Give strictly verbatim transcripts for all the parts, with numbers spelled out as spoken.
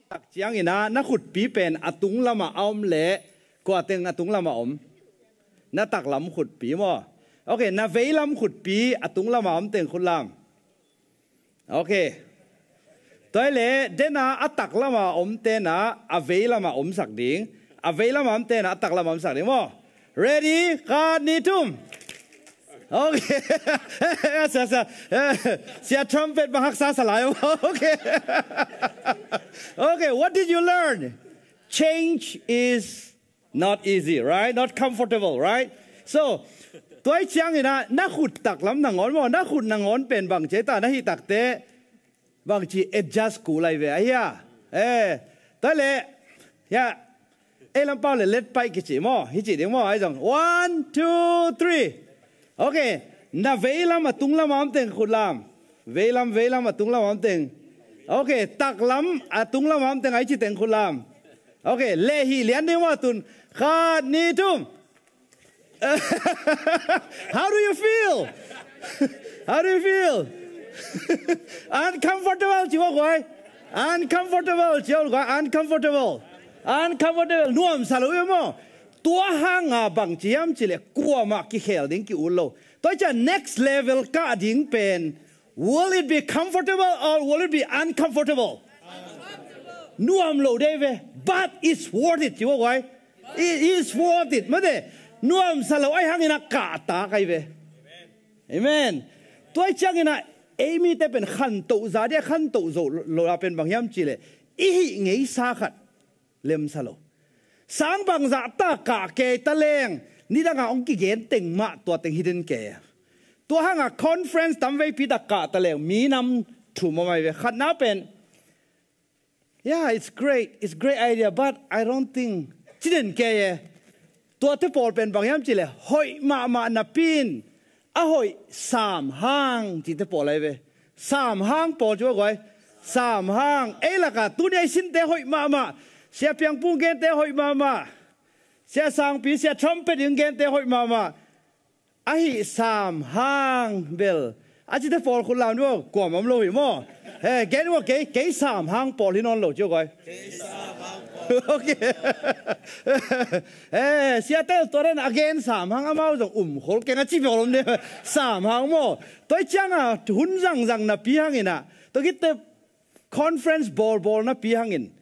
tak ciangin ah na khutpi pen a tung lamah a om leh, kua teng a tung lamah om? Na taklam khutpi maw? Ok, na veilam khutpi a tung lamah om teng khutlam. Ok. Tua hi leh, den a a tak lamah om ten ah a vei lamah omsak ding. A vei lamah om ten ah a tak lamah omsak ding maw? Ready? Khat, nih, thum. Ok. Sia, sia, sia trumpet bang haksa sa lai. Ok. Ok, what did you learn? Change is not easy, right? Not comfortable, right? So, tua hi ciangin ah na khut taklam nangawn maw, na khut nangawn pen bang ci ta, na hih takte bang ci, adjust kul lai ve, ahi a. Eh, tua leh, ya, ei lam pau leh let paih kici maw, hi ci ding maw, ahi zong. One, two, three. Ok, na veilam a tung lamah om teng khutlam. Veilam, veilam a tung lamah om teng. Ok, taklam a tung lamah om teng, ahi ci teng khutlam. Ok, leh hih lian ding maw tun. Khat, nih, thum. How do you feel? How do you feel? Uncomfortable ci ua guai. Uncomfortable ci ua guai. Uncomfortable. Uncomfortable. Nuamsa lo hi maw? Tua hanga bang ci hiam ci leh kuamah kikhel ding ki-ut lo. Tua hi ciang next level kah ding pen, will it be comfortable or will it be uncomfortable? Nuam lo dei ve. But it's worth it ci ua guai. It is worth it. Mate, nuamsa lo ahi hangin a kahtak ahi ve. Amen. Tua hi ciangin ah ei mite pen khantoh zah ding a, khantoh zo lo a pen bang hiam ci leh, i hih ngeisa khat lemsa lo. Sang bangzah ta kah kei ta leng, nidanga hong kigen teng mah tua teng hi den kei. Tua hanga conference tamveipi ta kah ta leng minam thum om ahi ve. Khatna pen, yeah, it's great, it's great idea, but I don't think, ci den kei e. Tuate pawl pen bang hiam ci leh, hoih mahmah napi in a hoih sam hang cite pawl ahi ve. Sam hang pawl ci ua guai. Sam hang. Ei laka tuni a i sinte hoih mahmah. Sia Piang Pung gente hoih mahmah. Sia Sangpi, Sia Trumpet in gente hoih mahmah. Ahi sam hang bel a cite pawl khutlam ding maw, kuamah om lo hi maw? He, gen ua kei, kei sam hang pawl hi nawn lo ci ua guai. Ok. Eh, siate tua den a gen sam hang amau zong um khol keng a ci pawl om ding. Sam hang maw? Tua hi cianga hun zangzang napi hangin ah, tua khit teh conference bawlbawl napi hangin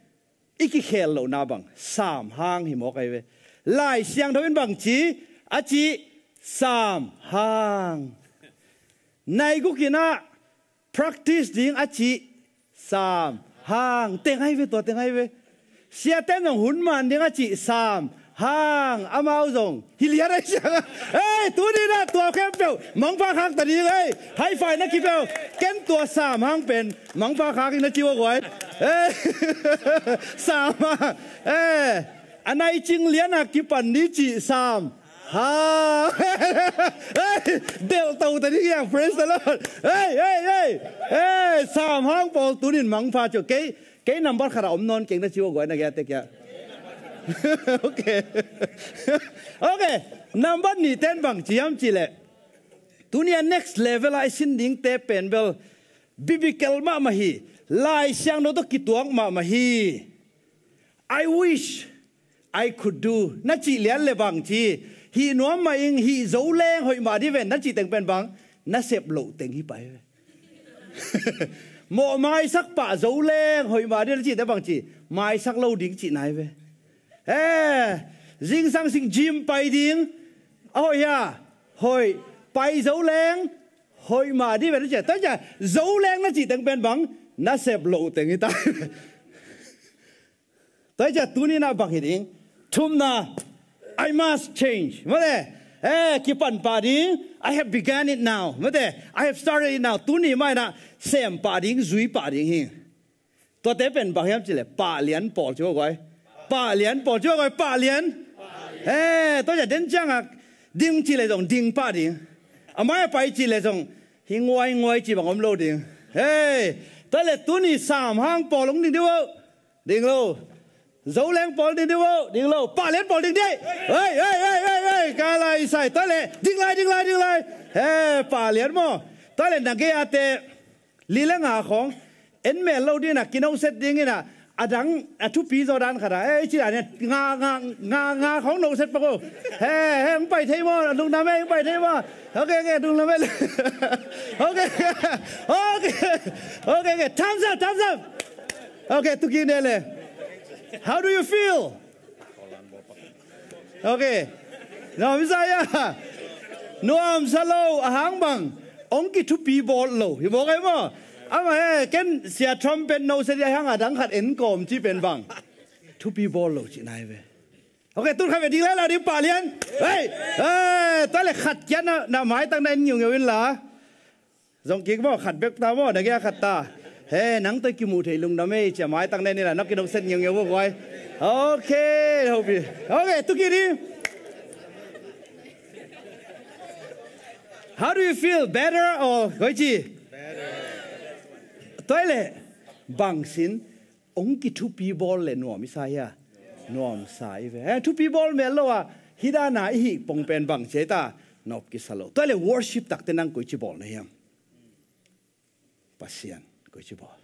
i kikhel lohna bang sam hang hi mawk ahi ve. Lai Siangtho in bang ci, a ci, sam hang. Nai guk in ah practice ding a ci, sam hang. Teng ahi ve, tua teng ahi ve. Siate in zong hun man ding a ci, sam hang. Amau zong hi lian ahi siang. Ei, tuni in ah tua khempeuh mangpha khak ta ding ei. High five na kipia uh. Ken tua sam hang pen mangpha khak ing na ci ua guai. Ei, sam hang. Ei, a nai cing lian a kipan ni ci, sam hang. Ei, delh to ta ding hiang, praise the Lord. Ei, ei, ei. Ei, sam hang pawl tuni in mangpha ci uh. Kei, kei number khat a om nawn keng na ci ua guai na gei a tek hia. Ok. Ok. Number nihte in bang ci hiam ci leh, tuni a next level a i sin dingte pen bel biblical mahmah hi. Lai Siangtho tawh kituak mahmah hi. I wish I could do na cih lian le bang ci, hih nuam mah ing, hih zo leng hoih mah dih ven na cih teng pen bang, na sep loh teng hi pah hi ve. Mawh maisak pah zo leng hoih mah dih na cih teng bang ci, maisak lo ding cihna hi ve. He, zingsang sing gym pai ding a hoih hia? Hoih. Pai zo leng hoih mah dih ven na cih, tua hi ciah zo leng na cih teng pen bang, na sep loh teng hi ta hi ve. Tua hi ciah tuni in ah bang hi ding? Thumna, I must change. Mate, eh, kipan pah ding. I have begun it now. Mate, I have started it now. Tuni mah in ah sem pah ding, zui pah ding hi. Tuate pen bang hiam cih leh pah lian pawl ci ua guai. Pah lian pawl ci ua guai, pah lian. Eh, tua hi ciah den ciang a ding cih leh zong ding pah ding. A mai a pai cih leh zong hi nguai nguai cih bang om lo ding. Hei, tua hi leh tuni sam hang pawl hong ding dih uh. Ding lo. Zo leng pawl ding dih uh, ding lo. Pah lian pawl ding dih. Hei, hei, hei, hei, hei. Ka lai sai. Tua hi leh ding lai, ding lai, ding lai. He, pah lian maw. Tua hi leh na gei a te li le nga khawng en mel lo ding in ah, kino set ding in ah, A dang, a thupi zaw dan khat a, eh, ci dan, eh, nga, nga, nga, nga khong no set pak o. He, he, hong pai thei maw, lungdam e, hong pai thei maw. Ok, ok, lungdam e. Ok, ok, ok, ok, thumbs up, thumbs up. Ok, tu ki ne le. How do you feel? Ok. Nuam sa hia? Nuam sa lo, a hang bang. Ong kithupi bawl lo. Hi bawl kai maw? Ama he, ken sia trumpet no sa dia hang a dang khat en kawm ci pen bang. Thupi bawl lo ci nai ve. Ok, tun khat ve ding lai la ding pah lian. Hei! Hei! Tua le khat kia na, na mai tang na en ngiu ngiu in la. Zong kik maw, khat bek ta maw, na kia khat ta. He, nang toi kimu thei lungdam e, cia mai tang nen ila, nak kinok set ngiau ngiau maw guai. Ok, hopi. Ok, tu kiri. How do you feel? Better or koici? Better. Tua le, bang sin, ong kithupi bawl le nuam i sa hia? Nuam sa i ve. He, thupi bawl mel lo a, hidana i hih pong pen bang cia ta, nop kisa lo. Tua le worship takte nang koici bawl na hiam? Pasian, koici bawl.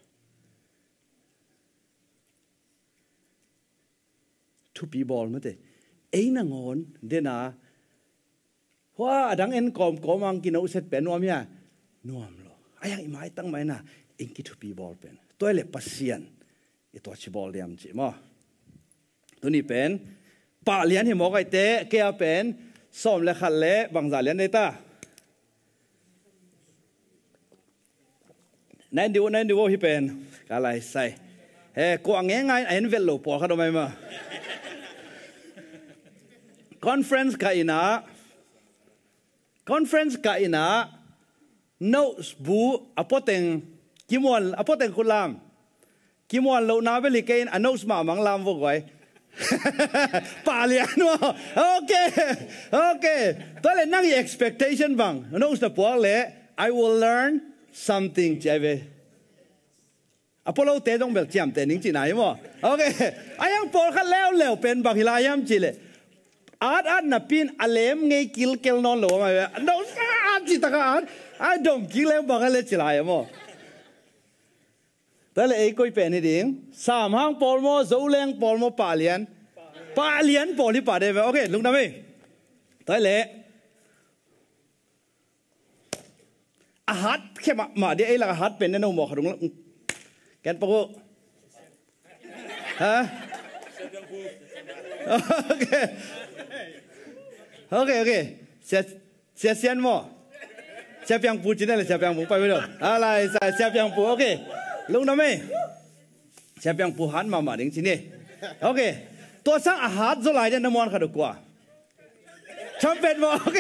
Thupi bawl mate. Ei nangawn, dena, hua, a dang en kawm kawm ang kino set pen nuam hia? Nuam lo. A yang i mai tang mai na, eng kithupi bawl pen. Tua le Pasian, i tua ci bawl diam ci maw. Tuni pen, pah lian hi mawk aite, kei a pen, sawm le khat le, bangza lian dei ta. Nain diu, nain diu hi pen, ka lai sai. He, kua nge ngai, a en vel lo, pawl khat om ai ma. Conference ka ina, conference ka ina, notes bu, a poteng, kimuan, a poteng kulam. Kimuan lo na beli kein a notes ma mang lam vo guai. Pah lian maw. Ok. Ok. Tua le nang i expectation bang. Notes na puak le, I will learn something ci ai ve. A polo te zong bel ciam te ning ci nai maw. Ok. A yang pawl khat leu leu pen bang hi lai hiam ci le. At at na pin a lem ngei kilkel nawn lo mai ve. Notes at ci taka at. A dom kik leu bang a le ci lai maw. Tua le ei koi pen hi ding. Sam hang pawl maw, Zoleng pawl maw, pah lian. Pah lian pawl hi pah de ve. Ok, lungdam ei. Tua le. A hat khe mahmah dia ei lak a hat pen ne no maw kha dung la. Ken pak uh. Ha? Ok. Ok, ok. Sia, sia sian maw. Sia piang pu cine le sia piang pu pai maw. Alai, sia, sia piang pu, ok. Lungdam ei. Sia piang pu hat mahmah ding cine. Ok. Tua sang a hat zo lai dia na muan kha duk kua. Trumpet maw. Ok.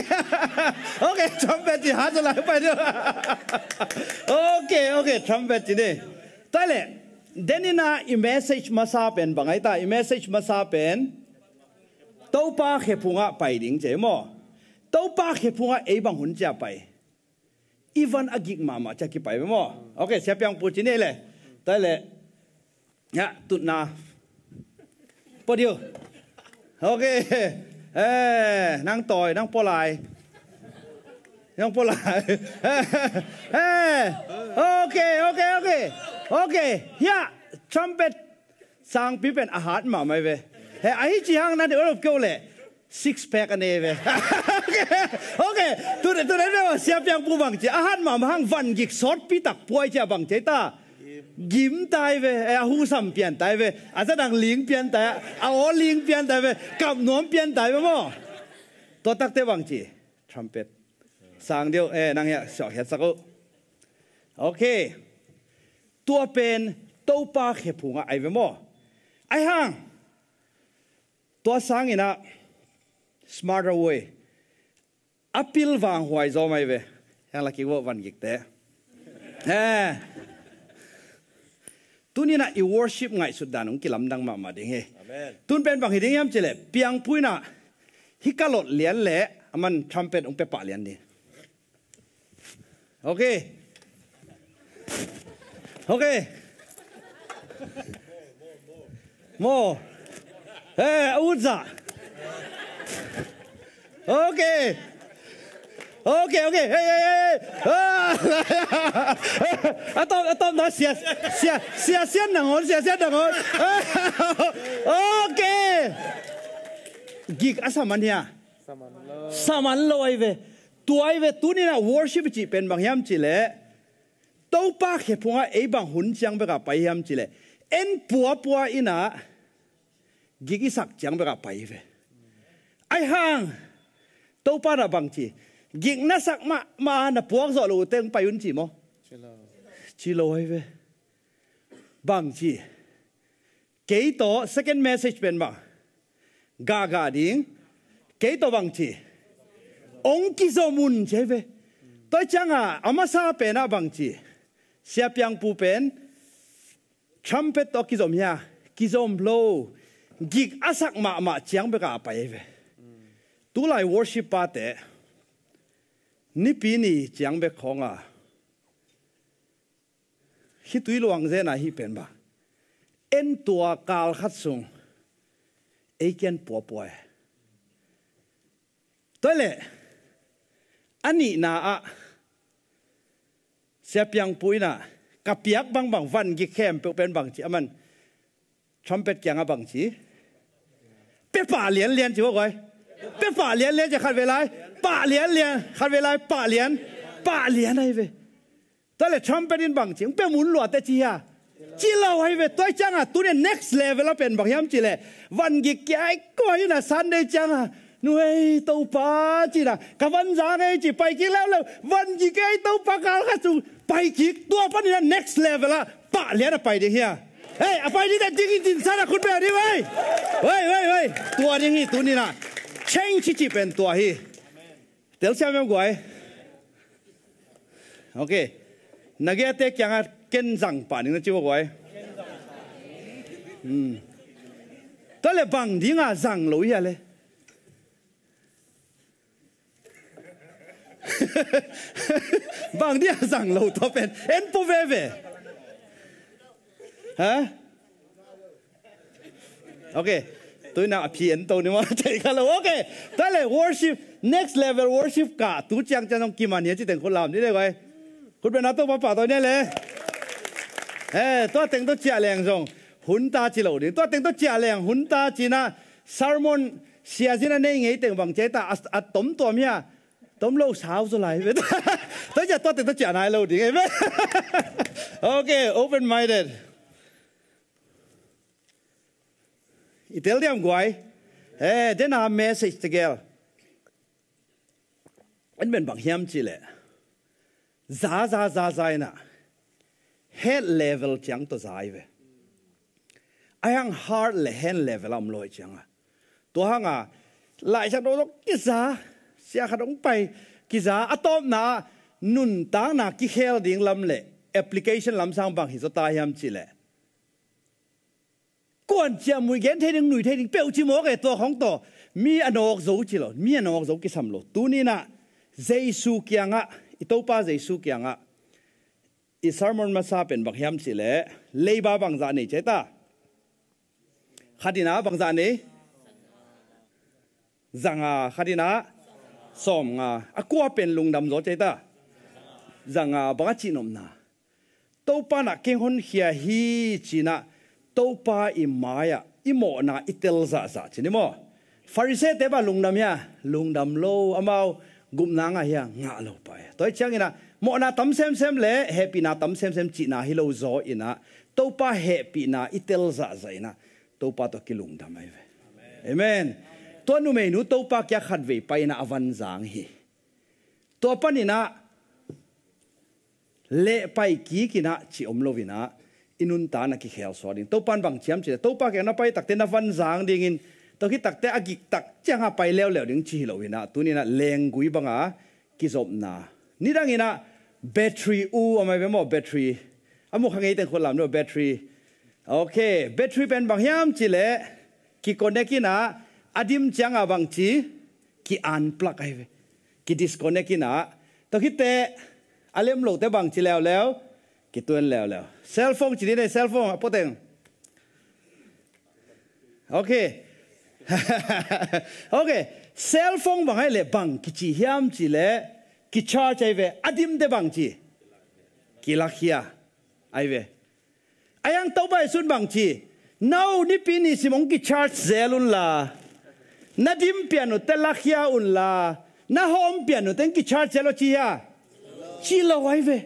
Ok, trumpet ci hat lai pai deuh. Ok, ok, trumpet ci ni. Tua le, denina i message masa pen bang ai ta, i message masa pen Topa khephungah pai ding ci maw. Topa khephungah ei bang hun cia pai. I van a gik mahmah cia kipai ve maw. Ok, sia piang pu ci ni le. Tua le, ya, tutna. Podiu. Ok. Eh, nang toi, nang polai. Nang polai. Eh, ok, ok, ok. Ok. Ya, trumpet. Sangpi pen a hat mahmah ve. He, ahi ci hang na de olop keu le. Six pack a nei ve. Ok. Tun, tun, tun, sia piang pu bang ci. A hat mahmah hang van gik sawtpi tak puai ci a bang ci ta. Gim tai ve. Eh, a husam pian tai ve. A zadang ling pian tai. A aw ling pian tai ve. Kap nuam pian tai ve maw. Tua takte bang ci. Trumpet. Sang deuh. Eh, nang ya siawk hiat sak uh. Ok. Tua pen Topa khephungah ai ve maw. Ai hang. Tua sangin ah smarter way. A pilvang huai zaw mai ve. Yang lakik vawh van gikte. Eh. Tuninah i worship ngaihsut dan hong kilamdang mahmah ding hi. Amen. Tun pen bang hi ding hiam cileh. Piangpuinah hika lot lian leh aman trumpet hong pepah lian ding. Ok. Ok. Maw. Eh, a utzah. Ok. Ok, ok. Hey, hey, hey, hey. Ah. A tawp, a tawp na sia, sia, sia, sia nangawn, sia, sia nangawn. Ok. Gik a sa man hia? Sa man lo. Sa man lo ahi ve. Tua ahi ve, tuni-in ah worship cih pen bang hiam cih leh, Topa khe phungah ei bang hun ciang bekah pai hiam cih leh, en puapua in ah gik i sak ciang bekah pai hi ve. Ahi hang Topa in ah bang ci, gik na sak mahmah na puak zawh loh teng pai un ci maw? Ci lo. Ci lo ahi ve. Bang ci, kei tawh second message pen bang, gahgah ding. Kei tawh bang ci, hong kizom un ci ahi ve. Tua ciangah a masa pen ah bang ci, Sia Piang Pu pen, trumpet tawh kizom hia? Kizom lo. Gik a sak mahmah ciang bekah a pai ahi ve. Tulai worship pate Nipi ni ciang bek khawng a, khitui luang zen a hih pen bang, en tua kal khat sung ei kiang puapua e. Tua leh a nihna ah Sia Piang Pu in ah ka piak bangbang van gik khempeuh pen bang ci, aman trumpet kiangah bang ci, pia pah lianlian ci maw guai. Pia pah lianlian ci, khat vei lai, pah lianlian, khat vei lai, pah lian, pah lian ahi ve. Tua leh trumpet in bang ci, hong pia mun lua teh ci hia? Ci lo ahi ve. Tua ciangah tuni next level a pen bang hiam cih leh, van gik kia ei kua in ah Sunday ciangah, nu ei Topa ci-in ah, ka van zang ei ci, pai kik leuleu, van gik kia ei Topa kal khat sung pai kik, tua panin ah next level ah pah lian a pai ding hia? Hei, a pai ding teh ding in, dinsan a khut beng ding, hei. Hei, hei, hei. Tua ding hi tuni-in ah. Change cih pen tua hi. Telsiam em guai? Ok. Na gei a te kiangah ken zang pah ning na ci maw guai. Hmm. Tua leh bang ding a zang lo hia leh? Bang ding a zang lo tua pen? En pua veve. Ha? Ok. Tuni-in ah a phi en to ni maw, thei kha lo. Ok. Tua leh worship, next level worship kah tu ciang ciang zong kiman hia ci teng khut lam ni leh guai. Khut beng na, Topa pahtawi ni leh. Eh, tua teng tawh ciah leng zong hun ta ci lo ding. Tua teng tawh ciah leng hun ta ci-in ah sermon siazin a nei ngei teng bang ci ahi ta, a, a tom tuam hia? Tom lo, sau zaw lai ve. Tua ciah tua teng tawh ciah nai lo ding, amen. Ok, open minded. I tel diam guai? Eh, den a message tegel en pen bang hiam cih leh, za, za, za, za in ah head level ciang tawh za ahi ve. Ahi hang heart leh hand level a om lo ahih ciangah, tua hangah Laisiangtho zong kiza, sia khat hong pai, kiza, a tawpna ah nuntakna kikhel ding lam leh application lam sang bang hi zaw ta hiam cih leh, kuan ciah muih gen thei ding, nui thei ding peuh ci mawk e, tua khawng tawh mi a nawk zo ci lo, mi a nawk zo kisam lo. Tuni-in ah Jesu kiangah, i Topa Jesu kiangah i sermon masa pen bang hiam cih leh, leiba bangzah nei ci ahi ta? Khat in ah bangzah nei? Zanga. Khat in ah sawmnga. A kua pen lungdam zaw ci ahi ta? Zanga. Bang a cihnopna? Topa in ah kei hong honkhia hi ci-in ah, Topa i mai-ah i mawhna i tel zahzah ci ni maw? Pharisee-te bang lungdam hia? Lungdam lo, amau gupna ngah hia? Ngah lo pah e. Tua ahih ciangin ah mawhna tam semsem leh hehpihna tam semsem cihna hi lo zaw in ah, Topa hehpihna i tel zahzah in ah Topa tawh kilungdam ahi ve. Amen. Tua numeinu Topa kiang khatvei pai in ah a van zang hi. Tua panin ah lehpai kik in ah cih om lo in ah, i nuntakna kikhel suak ding. Topa in bang ci hiam cih leh, Topa kiang na pai takteh na van zang dingin, tua khit takteh a gik tak ciangah pai leuleu ding ci hi lo in ah, tuni-in ah lenggui banga kizopna. Nidang in ah battery uh a mai ve maw, battery. A mu kha ngei teng khut lam ni maw, battery. Ok, battery pen bang hiam cih leh, ki-connect in ah, a dim ciangah bang ci, ki-unplug ahi ve. Ki-disconnect in ah. Tua khitteh a lem lohteh bang ci leuleu, kituan leuleu. Cellphone ci dih ni, cellphone a pua teng. Ok. Ok. Cellphone bang ahih leh bang kici hiam cih leh, kicharge ahi ve. A dimte bang ci? Kilakhia ahi ve. Ahi hang Topa Jesu'n bang ci? No, Nipi ni sim hong kicharge zel unla, na dim pian uh teh lakhia unla, na hawm pian uh teh hong kicharge zel un ci hia? Ci lo ahi ve.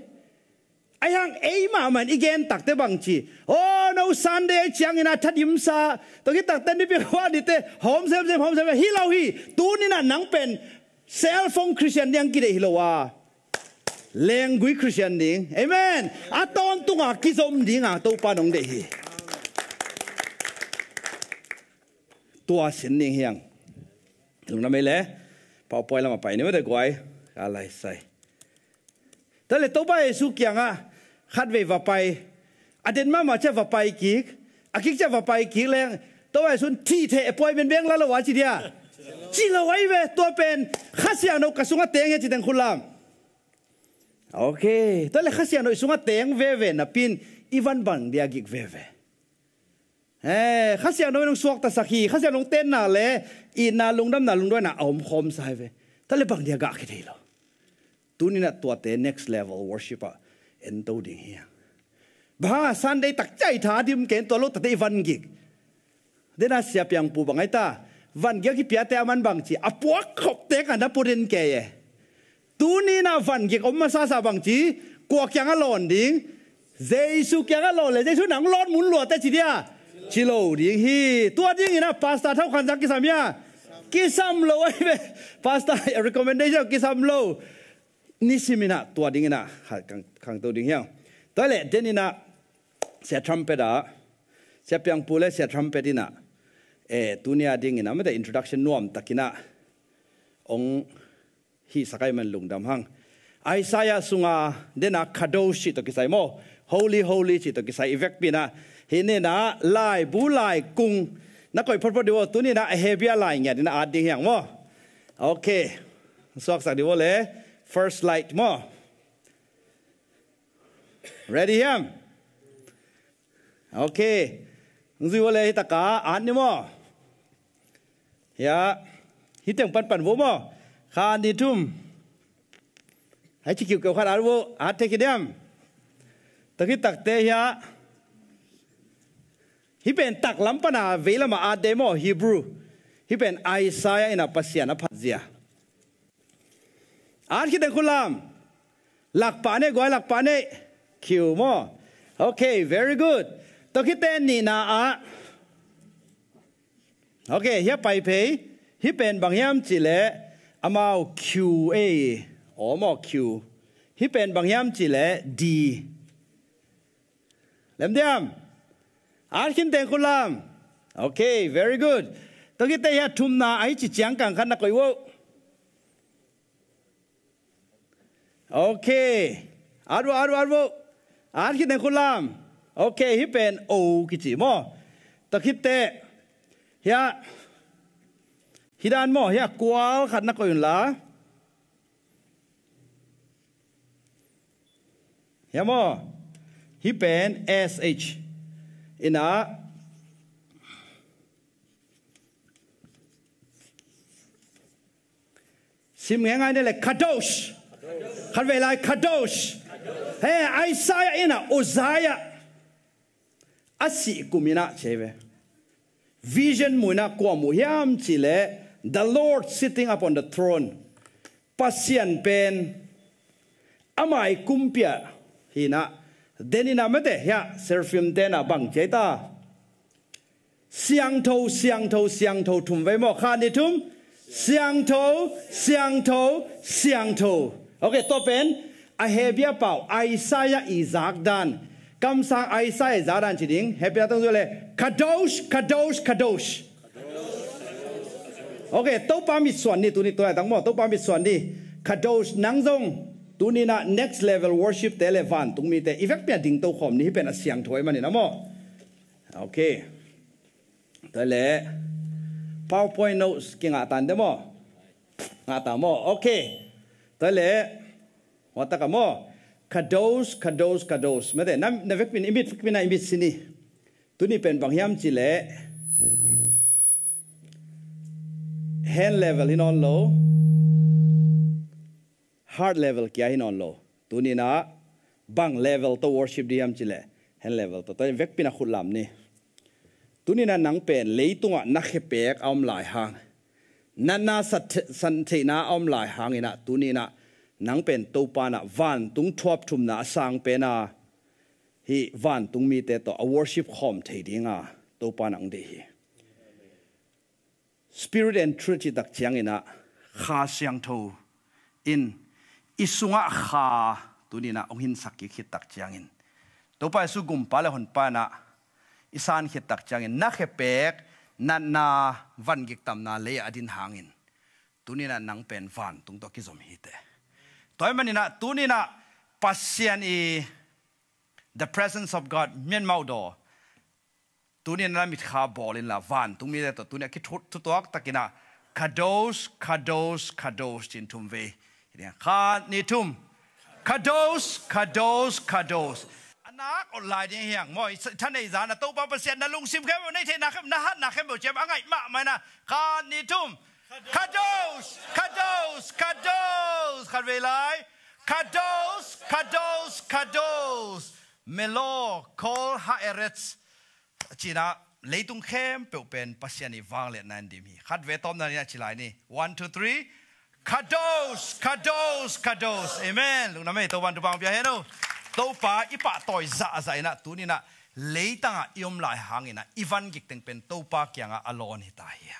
Ahi hang ei mahmah in i gen tak teh bang ci? Oh no, Sunday ahi ciangin a thadimsa, tua khit tak teh Nipi khuani teh hawm semsem, hawm semsem hi lo hi. Tuni-in ah nang pen cell phone Christian ding kideih hi lo a, lenggui Christian ding. Amen. A tawntung a kizom ding a Topa in hong deih hi. Tua sin ding hi hang. Lungdam ei le. PowerPoint lam ah pai ni maw, te guai. Ka lai sai. Tua leh Topa Jesu kiangah khatvei va pai. A den mahmah ciang va pai kik, a kik ciang va pai kik leng, Topa Jesu'n thih theh appointment bek la lo a ci dia? Ci lo ahi ve. Tua pen Kha Siangtho ka sungah teng hi a ci teng khut lam. Ok. Tua leh Kha Siangtho i sungah teng veve napi-in i van bang dia gik veve? Eh, Kha Siangtho in hong suaktasak hi, Kha Siangtho hong tenna leh itna, lungdamna, lungduaina a om khawmsa hi ve. Tua leh bang dia gah kithei lo? Tuni-in ah tuate next level worship ah ento ding hi hang. Bang hang a Sunday tak ciang i thadim kei in, tua lo tak teh i van gik? Den a Sia Piang Pu bang ahi ta, van gik a kipiate a man bang ci, a puak khopte ka na put in kei e. Tuni-in ah van gik om masasa bang ci? Kua kiangah lawn ding? Jesu kiangah lawn leh Jesu in hong lawn mun lua teh ci dia? Ci lo ding hi. Tua dingin ah Pastor Thau Khan Sang kisam hia? Kisam lo ahi ve. Pastor recommendation kisam lo. Nisimin ah tua dingin ah kha-, khang, khangto ding hi hang. Tua leh den in ah Sia Trumpet ah, Sia Piang Pu leh Sia Trumpet in ah, eh, tuni a dingin ah mate introduction nuam takin ah hong hihsak ahih man lungdam hang. Isaiah sunga den a Kadosh cih tawh kisai maw, Holy, Holy cih tawh kisai i vekpi-in ah, hih ni-in ah laibu laikung na koih photphot ding uh aw. Tuni-in ah Hebrew lai ngiat in ah at ding hi hang maw. Ok. Suaksak ding uh aw le. First light maw. Ready hiam? Ok. Hong zui uh aw le, hih tak a at ni maw. Hiah, hih teng panpan uh aw maw. Khat, nih, thum. Hih ci kiukiu khat at uh aw, at thei khin hiam? Tua khit tak teh hiah, hih pen taklam pan a veilam ah at ding maw, Hebrew. Hih pen Isaiah in ah Pasian a phatzia. At khit teng khut lam. Lak pah ni, guai, lak pah ni. Kiu maw. Ok, very good. Tua khit teh nihna ah. Ok, hiah pai phei. Hih pen bang hiam cih leh amau Q A. Aw maw, Q. Hih pen bang hiam cih leh D. Lem diam? At khin teng khut lam. Ok, very good. Tua khit teh hiah thumna ahi ci ciang kang khat na koih uh aw. Ok. At uh aw, at uh aw, at uh aw. At khin teng khut lam. Ok, hih pen O kici maw. Tua khit teh hiah, hih dan maw, hiah kual khat na koih un la. Hiah maw. Hih pen S H. In ah, sim ngeingai ni leh Kadosh. Khatvei lai, Kadosh. He, Isaiah in ah Uzziah a sih kum in ah ci hi ve. Vision mu in ah kua mu hiam cih leh, the Lord sitting upon the throne. Pasian pen amah i kumpi ah hi in ah, den in ah mate hiah seraphim te'n ah bang ci hiam ta? Siangtho, siangtho, siangtho, thum vei maw. Khat, nih, thum. Siangtho, siangtho, siangtho. Ok, tua pen a Hebrew pau Isaiah i zak dan, kamsang Isaiah i zak dan ci ding. Hebrew tawh zong le, Kadosh, Kadosh, Kadosh. Ok, Topa mitsuan ni, tuni tua laitang maw, Topa mitsuan ni. Kadosh, nang zong tuni-in ah next level worship te le vantung mite i vekpi ah dingto khawm ni, hih pen a siangtho ahih manin ah maw. Ok. Tua leh PowerPoint notes kingah ta in de maw. Ngah ta maw. Ok. Tua leh, hua tak ah maw. Kadosh, Kadosh, Kadosh. Mate, na, na vekpi in, i mit vekpi in ah i mit sin ni. Tuni pen bang hiam cih leh, hand level hi nawn lo. Heart level kia hi nawn lo. Tuni-in ah bang level tawh worship ding hiam cih leh, hand level tawh, tua vekpi-in ah khut lam ni. Tuni-in ah nang pen leitungah na khepek a om lai hang, natna sat-, santheihna a om lai hangin ah, tuni-in ah nang pen Topa in ah vantung thuap thumna a sang pen a, hih vantung mite tawh a worship khawm thei ding a Topa in ah hong deih hi. Spirit and truth cih tak ciangin ah, Kha Siangtho in i sungah Kha tuni-in ah hong hinsak kik khit tak ciangin, Topa Jesu Gumpa le Honpa in ah i san khit tak ciangin, na khepek natna van gik tamna lei-ah a din hangin, tuni-in ah nang pen vantung tawh kizom hi teh. Tua ahih manin ah tuni-in ah Pasian i, the presence of God, mianmauh daw, tuni-in ah na mitkha bawl inla, vantung mite tawh tuni-in ah kithut thutuak takin ah, Kadosh, Kadosh, Kadosh, ci-in thum vei. Khat, nih, thum. Kadosh, Kadosh, Kadosh. A nak awt lai ding hi hang maw, i tha nei zan ah Topa Pasian na lungsim khempeuh, na theihna khempeuh, na hatna khempeuh ciang a ngaih mahmah in ah. Khat, nih, thum. Kadosh, Kadosh, Kadosh. Khat vei lai. Kadosh, Kadosh, Kadosh. Melo kol ha'eretz. Ci-in ah leitung khempeuh pen Pasian i vangliatna in dim hi. Khat vei tawpna-in ah ci lai ni. One, two, three. Kadosh, Kadosh, Kadosh. Amen. Lungdam ei, Topa in thupha hong pia hen aw. Topa i pahtawi zahzah in ah, tuni-in ah leitang ah i om lai hangin ah i van gik teng pen Topa kiangah a lawn hi ta hi.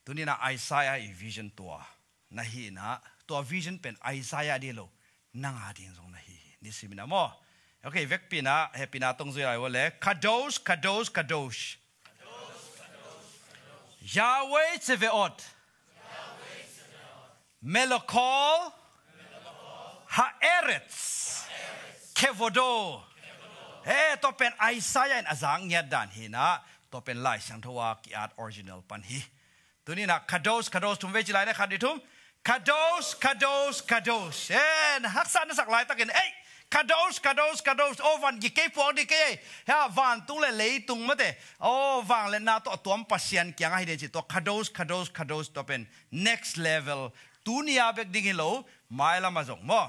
Tuni-in ah Isaiah i vision tua na hi in ah, tua vision pen Isaiah ding hi lo, nang a ding zong na hi hi. Nisimin ah maw. Ok, vekpi-in ah hehpihna tawh hong zui lai uh leh. Kadosh, Kadosh, Kadosh. Yahweh Tsevaot. Melokol Ha'eretz Kevodo. Eh, tua pen Isaiah in a zak ngiat dan hi in ah, tua pen Lai Siangtho a ki-at original pan hi. Tuni-in ah Kadosh, Kadosh, thum vei ci lai ni, khat, nih, thum. Kadosh, Kadosh, Kadosh. Eh, na haksa na sak laitakin, ei, Kadosh, Kadosh, Kadosh. Aw, van gik kei, puak ding kei, ei. Hia, vantung le leitung mate, aw, vangliatna tawh a tuam Pasian kiangah hi ding ci, tua Kadosh, Kadosh, Kadosh, tua pen next level. Tuni-a bek ding hi lo, mailam ah zong maw.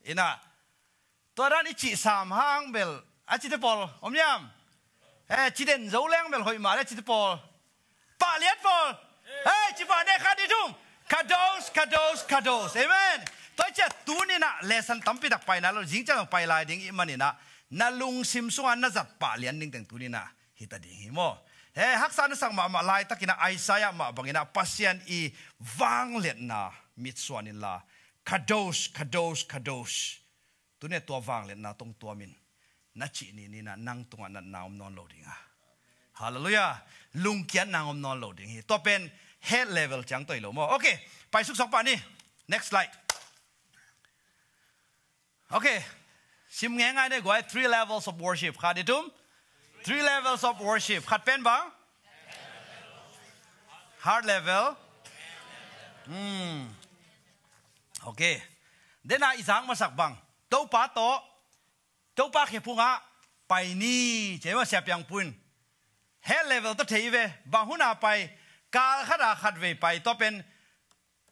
In ah, tua dan i cih sam hang bel a cite pawl om hiam? Eh, ci den zo leng bel hoih mah leh a cite pawl. Pahlian pawl. Eh, ci pah ni, khat, nih, thum. Kadosh, Kadosh, Kadosh. Amen. Tua ciang tuni-in ah lesson tampi tak pai nai lo, zing ciang pai lai ding i hih manin ah, na lungsim sungah na zat pahlian ding teng tuni-in ah hi ta ding hi maw. Eh, haksa na sak mahmah laitakin ah Isaiah mah bangin ah Pasian i vangliatna mitsuan inla, Kadosh, Kadosh, Kadosh. Tuni-a tua vangliatna tawh hong tuamin, na cih ni-in ah nang tungah natna om nawn lo ding a. Hallelujah. Lungkiatna om nawn lo ding hi. Tua pen head level ciang tawh hi lo maw. Ok, pai suk sawk pah ni. Next slide. Ok. Sim ngeingai ni guai, three levels of worship. Khat, nih, thum. Three levels of worship. Khat pen bang? Heart level. Hmm. Ok. Dena i zak masak bang, Topa tawh, Topa khephungah pai ni, ci-a maw, Sia Piang Pu in. Head level tawh thei ve. Bang hun a pai? Kal khat a khat vei pai, tua pen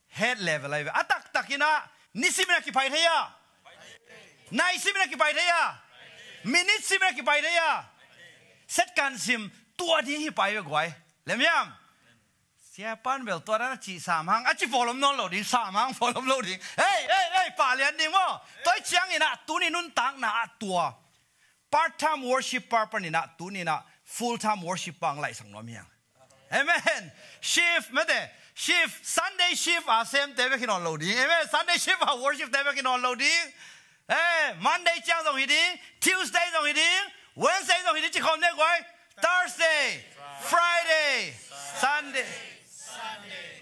head level ahi ve. A taktakin ah nisimin ah kipai thei a, naisimin ah kipai thei a, minute simin ah kipai thei a, second sim, tua ding hi pai ve guai. Lem hiam? Sia pan bel tua dan a cih sam hang, a ci pawl om nawn lo ding, sam hang pawl om lo ding. Hei, hei, hei, pahlian ding maw. Tua hi ciangin ah tuni nuntakna ah tua part time worship pa panin ah tuni-in ah full time worship pa hong laihsak nuam hi hang. Amen. Shift mate, shift, Sunday shift a semte bek hi nawn lo ding. Amen. Sunday shift a worship te bek hi nawn lo ding. Eh, Monday ciang zong hi ding, Tuesday zong hi ding, Wednesday zong hi ding, ci khawm ni guai. Thursday, Friday, Sunday.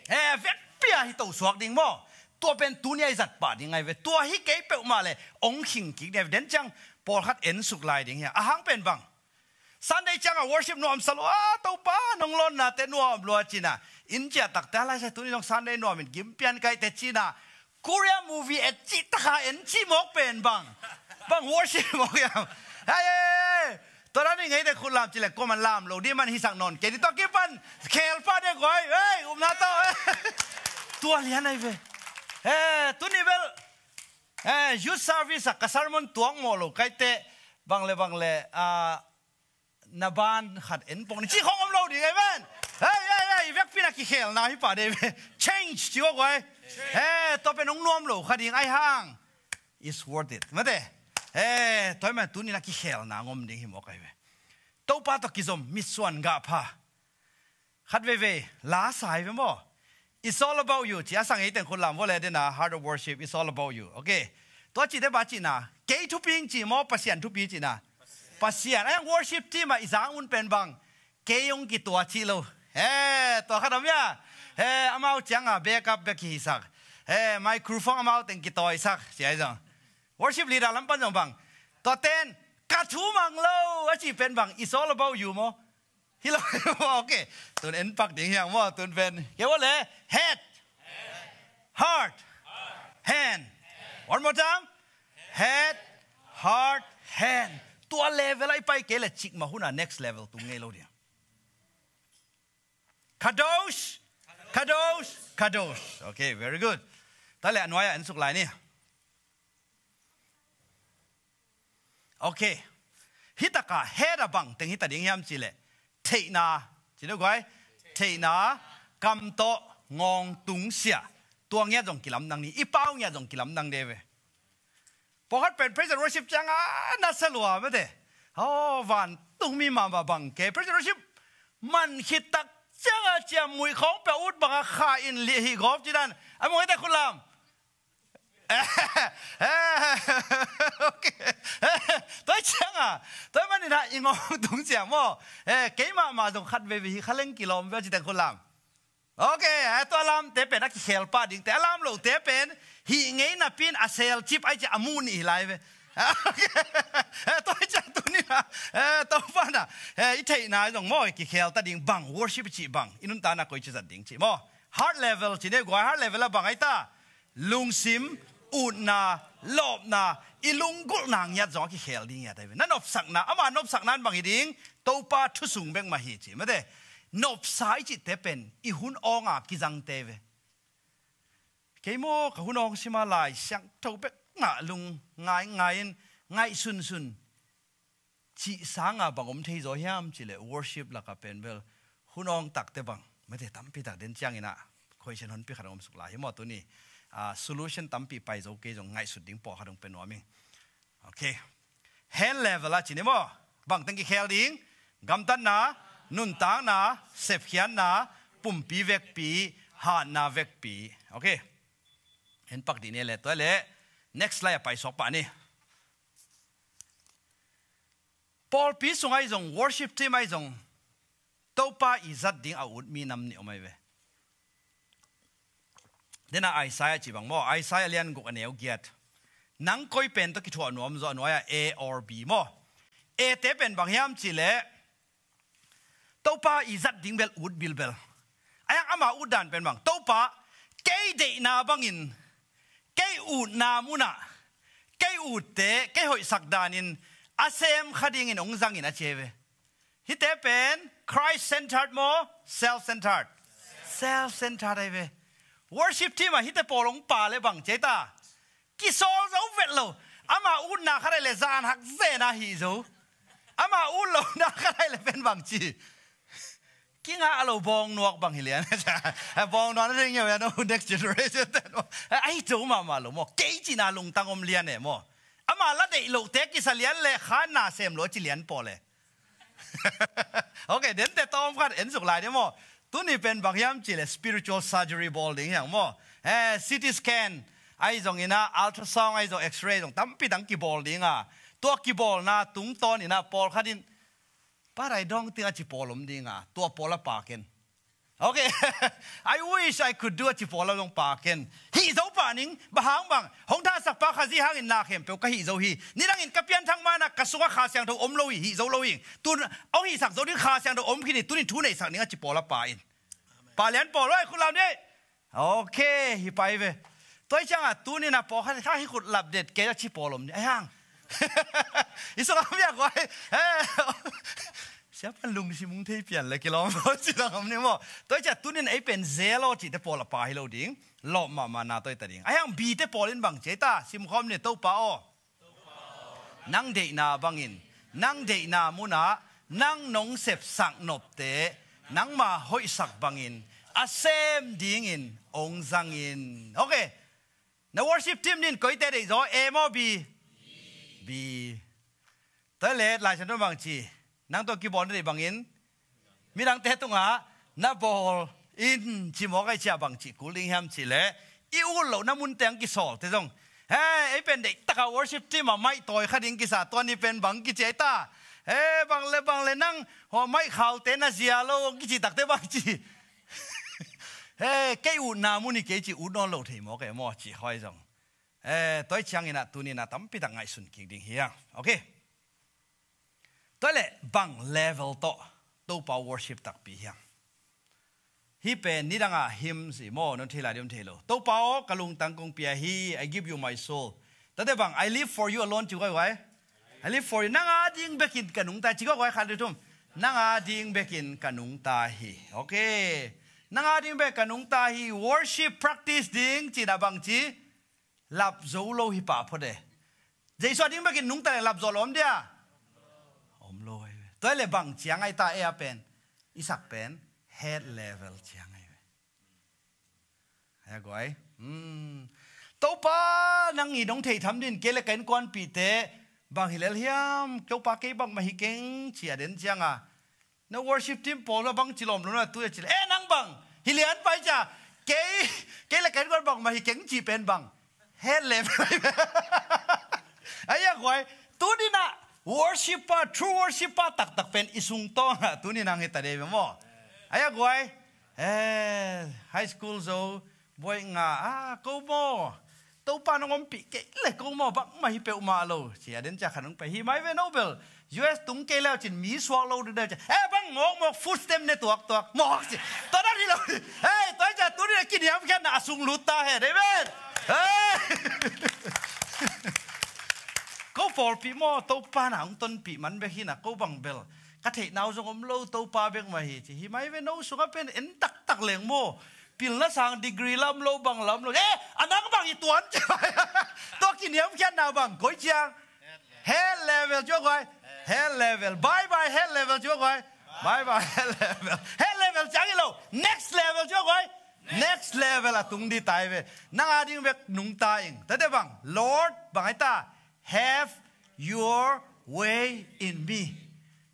Eh, vekpi a hi to suak ding maw. Tua pen tuni-a i zat pah ding ahi ve. Tua hi kei peuhmah leh hong khing kik ding ahi ve. Den ciang pawlkhat en suk lai ding hi a. A hang pen bang, Sunday ciang a worship nuamsa lua, Topa nong lawnnate nuam lua, ci-in ah. Inn ciah takte a laisai tuni nong Sunday nuamin gim pian kai teh, ci-in ah. Korea movie et cih tak a en cih mawk pen bang, bang worship mawk hiam? Hei, hei, hei. Tua dan i ngei teh khut lam ci leh kuaman lam lo ding, man hisak nawn kei ding. Tua kipan khel pah ding guai. Hei, upna tawh. Tua lian ahi ve. Eh, tuni bel, eh, youth service ah ka sermon tuak mawh lo kaite, bang le bang le, ah, na ban khat en pong ni ci khong om lo ding, amen. Hei, hei, hei, vekpi na kikhelna hi pah ding ve. Change ci aw guai. Hei, tua pen hong nuam lo kha ding ahi hang, it's worth it. Mate. Hei, tua hi man tuni na kikhelna ngom ding hi mawk ahi ve. Topa tawh kizom mitsuan gah pha. Khat veivei la sa hi ve maw? It's all about you ci a sang ei teng khut lam vua le dena, heart of worship, it's all about you. Okay. Tua cite ba cihna, kei thupi ing ci maw, Pasian thupi cihna? Pasian. Ahi hang worship team ah i zang un pen bang, kei hong kituak ci lo. He, tua khat om hia? He, amau cianga backup bek kihisak. He, microphone amau teng kitawisak ci ahi zong. Worship leader lam pan zong bang, tua ten, ka thu mang lo a ci pen bang, it's all about you maw? Hi lo. Okay. Tun en pak ding hiang maw, tun pen. Kei vua le, head, heart, hand. One more time. Head, heart, hand. Tua level ah i pai kei le cikmah hun ah next level tung ngei lo ding. Kadosh, kadosh, kadosh. Okay, very good. Tua le a nuai ah en suk lai ni. Okay. Hi tak a head ah bang teng hi ta ding hiam ci le, theihna, ci deuh guai. Theihna, kam tawh ngawng tungsiah. Tua ngiat zong kilamdang ni, i pau ngiat zong kilamdang de ve. Pawlkhat pen praise and worship cianga na sa lua mate. Oh, vantungmi mahmah bang kei praise and worship man khit tak cianga ciammuih khawng pia ut banga kha in lih hi gawp ci dan. A mawh hi ta khut lam. Okay. Tua cianga, tua manin ah i ngawng tung ciang maw? Eh, kei mahmah zong khat veivei hi kha leng kilawm ve ci teng khut lam. Okay, eh, tua lamte pen a kikhel pah dingte, a lam lote pen hih ngei napi in a sel cip ahi ciah a muh nih hi lai ve. Okay. Eh, tua hi ciah tuni na, eh, tua pana, eh, i theihna zong maw, i kikhel ta ding bang, worship i cih bang, i nuntakna koi ci zat ding cih maw? Heart level ci ne guai, heart level a bang ahi ta? Lungsim, utna, lawpna, i lunggulhna ngiat zong a kikhel ding ngiat ahi ve. Na nopsakna, ama nopsakna in bang hi ding, Topa thu sung bek mah hi ci mate. Nopsa i cihte pen i hun awnga kizangte ve. Kei maw ka hun awng sima Lai Siangtho bek ngah lung ngaingai in ngaihsunsun cih sanga bang om thei zaw hiam cih leh worship lakah pen bel hun awng takte bang mate tampi tak den ciangin ah question honpi khat hong om suk lai hi maw tuni. Ah, solution tampi pai zo kei zong ngaihsut ding pawlkhat hong pia nuam ing. Okay. Hand level ah ci ni maw? Bang teng kikhel ding? Gamtatna, nuntakna, sepkhiatna, pumpi vekpi, hatna vekpi. Okay. Hen pak dih ni le tua le next slide ah paisuak pah ni. Pawlpi sung ahi zong, worship team ahi zong, Topa i zat ding a ut mi nam nih om ahi ve. Dena Isaiah ci bang maw, Isaiah lian guk a neu giat. Nang koi pen tawh kithuah nuam zaw a nuai ah A or B maw? A te pen bang hiam cih leh Topa i zat ding bel ut bilbel. Ahi hang ama ut dan pen bang, Topa, kei deihna bangin, kei utna munah, kei utte, kei hoihsak danin a sem kha dingin hong zangin a ci ahi ve. Hihte pen Christ centered maw, self centered? Self centered ahi ve. Worship team ah hihte pawl hong pa le bang ci ahi ta? Kisawl zo vet lo. Ama utna khat ahi le zan hak zena hih zo. Ama ut lohna khat ahi le pen bang ci? Kingah lo bawngnuak bang hi lian. Bawngnuak na ding ngiau ya no next generation. Ahi zo mahmah lo maw. Kei cihna lungtang om lian e maw. Ama la deih lohte kisa lian le khanna sem lo a ci lian pawl e. Okay, dente tawm khat en suk lai ding maw? Tuni pen bang hiam cih leh spiritual surgery bawl ding hiang maw? Eh, C T scan ahi zongin ah, ultrasound ahi zong, X-ray zong tampi dang kibawl ding a. Tua kibawlna tungtawnin ah pawlkhat in, "Paradise dawng ting," a ci pawl om ding a, tua pawl a pa ken. Okay. "I wish I could do," a ci pawl a zong pa ken. Hih zo pah ning, bang hang bang, hong thahsak pa Khazih hangin na khempeuh ka hih zo hi. Nidangin ka pianthak ma-in ah ka sungah Kha Siangtho om lo hi, hih zo lo hi. Tun hong hihsak zo ding Kha Siangtho om khin hi, tunin thu neisak ning a ci pawl a pa in. Pa lian pawl, oi, khut lam ni. Okay, hi pai ve. Tua hi ciangah tunin ah pawlkhat kha hi khut lap det kei a ci pawl om ni. Ahi hang. I sungah miak guai. Eh. Siapa lungsim hong thei pian le kilawm lo ci dang om ni maw? Tua ciah tunin ei pen zelo cihte pawl a pa hi lo ding. Lawp mahmah na tua hi ta ding. Ahi hang B te pawl in bang ci ei ta, simkhawm ni Topa aw. Nang deihna bangin, nang deihna munah nang nong sepsak nopte nangma hoihsak bangin a sem dingin hong zangin. Okay. Na worship team nin koite deih zaw, A maw B? B. Tua le Lai Siangtho bang ci, nang tawh kibawl na deih bangin midangte tungah na bawl in ci mawk ei ciah bang ci kul ding hiam cih leh i ut loh na munte ang kisawlte zong, he, ei pen deih takah worship team ah maih tawi kha ding kisa, tua ni pen bang kici ei ta? He, bang le bang le nang hua maih khaute na zia lo ang kici takte bang ci? He, kei utna mun hi kei ci ut nawn lo thei mawk ei maw ci khoi zong. Eh, tua hi ciangin ah tunin ah tampi tak ngaihsun kik ding hi a. Okay. Tua leh bang level tawh Topa worship takpi hiam? Hih pen nidang a hymn si maw, non thei lai diam thei lo. Topa aw, ka lungtang kong pia hi, I give you my soul. Tate bang, I live for you alone ci guai guai. I live for you. Nang a ding bekin ka nungta hi ci guai guai, khat, nih, thum. Nang a ding bekin ka nungta hi. Okay. Nang a ding bek ka nungta hi, worship practice ding ci na bang ci. Lap zo lo hi pah phot e. Jesu a ding bekin nungta le lap zo lo om dia? Om lo hi ve. Tua le bang ciang ai ta e a pen, i sak pen head level ciang ai ve. Hai a guai. Hmm. Topa nang i dong thei tham din, kei le ka innkuanpihte bang hi lel hiam, Topa kei bangmah hi keng ci a den ciang a, na worship team pawl a bang ci lawm lo na tu a ci le, eh, nang bang hi lian pai cia, kei, kei le ka innkuan bangmah hi keng ci pen bang head level. Ai a guai, tuninah worshipper, true worshipper taktak pen i sung tawngah tuninah hi ta dei maw? Ai a guai, eh, high school zo buai nga, ah, ko maw, Topa nong ompih kei le ko maw, bangmah hi peuhmah lo ci a den cia khan hong pai hi mai ve no bel. U S tung kei leu cin mi suak lo ding deu cia, eh, bang mawk mawk food stamp ne tuak tuak mawk ci. Tua dan hi lo. Hei, tua cia tuni a kiniamkhiatna a sung lut ta hen. Amen. Hei. Ko pawlpih maw, Topa na hong tonpih man bek hi na, ko bang bel ka theihna uh zong om lo, Topa bek mah hi ci hi mai ve no sungah pen en taktak leng maw. Pilna sang degree lam lo, bang lam lo. Eh, a nang bang i tuan ci. Tua kiniamkhiatna bang koi ciang? Head level ci guai. Head level. Bye bye head level ci guai. Bye bye head level. Head level ciang hi lo. Next level ci guai. Next level a tung di tai ve. Nang a ding bek nungta ing. Tate bang, Lord, bang ai ta, have your way in me.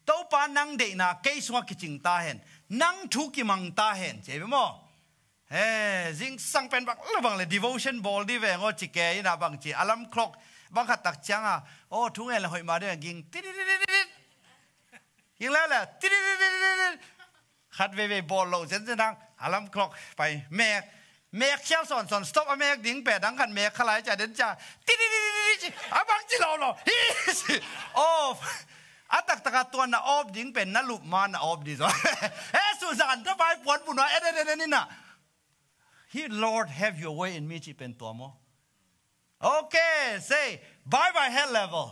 Topa nang deihna kei sungah kicing ta hen. Nang thu kimang ta hen. Ci ei ve maw? He, zingsang pen bang le bang le devotion bawl di veng aw ci ke ina bang ci. Alarm clock bang khat tak ciang a, aw, thu ngen le hoih ma di veng ging. Ti di di di di di. Ging le le. Ti di di di di di. Khat veivei bawl lo zenzen hang. Alarm clock pai mek. Mek khial sawnsawn stop a mek ding pen dang khat mek kha lai cia den cia. Ti di di di di di ci. A bang ci lo lo. Hi ci. Off. A taktak a tuan na off ding pen na lup ma na off di zo. He su zan ta bai puan pun wa en en en en ina. Hi Lord, have your way in me ci pen tua maw? Okay, say, bye bye head level.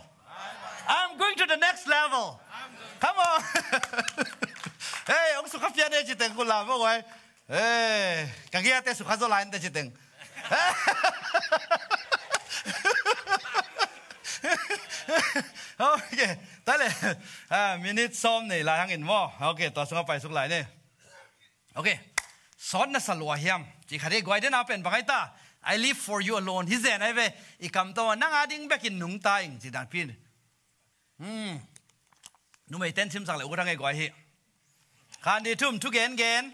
I'm going to the next level. Come on. Hey, ong sukha pian e ci teng kula maw guai. Hey, ka giate sukha zo lai te ci teng. Okay, ta le. Ah, minute sawm nei lai hangin maw. Okay, tua sungah pai suk lai ne. Okay. Sawt na sa lua hiam? Ci kha dei guai den a pen bang ai ta. I live for you alone. Hi zen ai ve. I kam tawh nang a ding bekin nungta ing ci dan pin. Hmm. Numei ten simsak le u thang ei guai hi. Khan di thum thugen gen.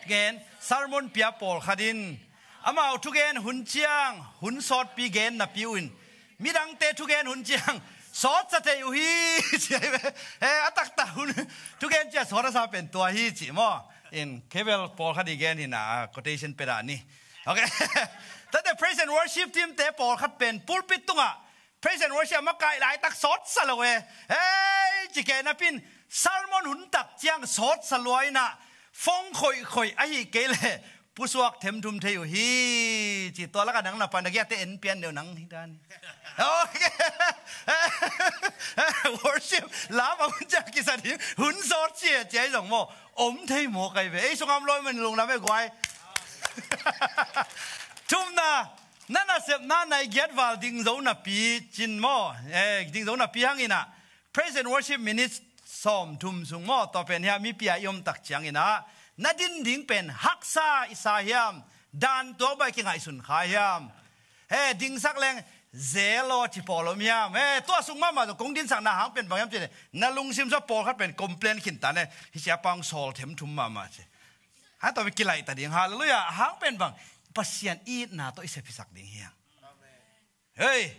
Gen. Sermon pia pawl khat in. Amau thugen hun ciang. Hun sawtpi gen na piu in. Midangte thugen hun ciang sawtsa thei uh hi, ci ai ve. Eh, a taktak hun thugen cia sawt a sa pen tua hi ci maw. In kebel pawlkhat i gen hi na, ah, quotation pet ah ni. Okay. Tate praise and worship team te pawlkhat pen pulpit tungah praise and worship a makaih laitak sawtsa lo e. Hei, ci ke napin sermon hun tak ciang sawtsa lua inah fong khoihkhoih ahi kei le pusuak themthum thei uh hi. Ci tua lakah nang na pan a giate en pian deuh nang hi dan. Okay. Worship lam a hun ciang kisat hi. Hun sawt cia cia i zong maw om thei maw kai ve. Ei sungam lawi man lunglam e guai. Thumna, na nasepna nai giat val ding zo napi cin maw? Eh, ding zo napi hangin ah praise and worship minutes sawm thum sung maw, tua pen hiam mipi a i om tak ciangin ah na din ding pen haksa i sa hiam? Dan tuak bai kingaihsun kha hiam? He, dingsak leng zelo ci pawl om hiam? He, tua sung mahmah zo kong dinsakna hang pen bang hiam ci le na lungsim saw pawlkhat pen complain khin ta ne. Hi sia pang sawl themthum mahmah ci. Ha, tua mi kilaih ta ding. Halleluiah. Hang pen bang Pasian itna tawh i sep hisak ding hiam? Hey.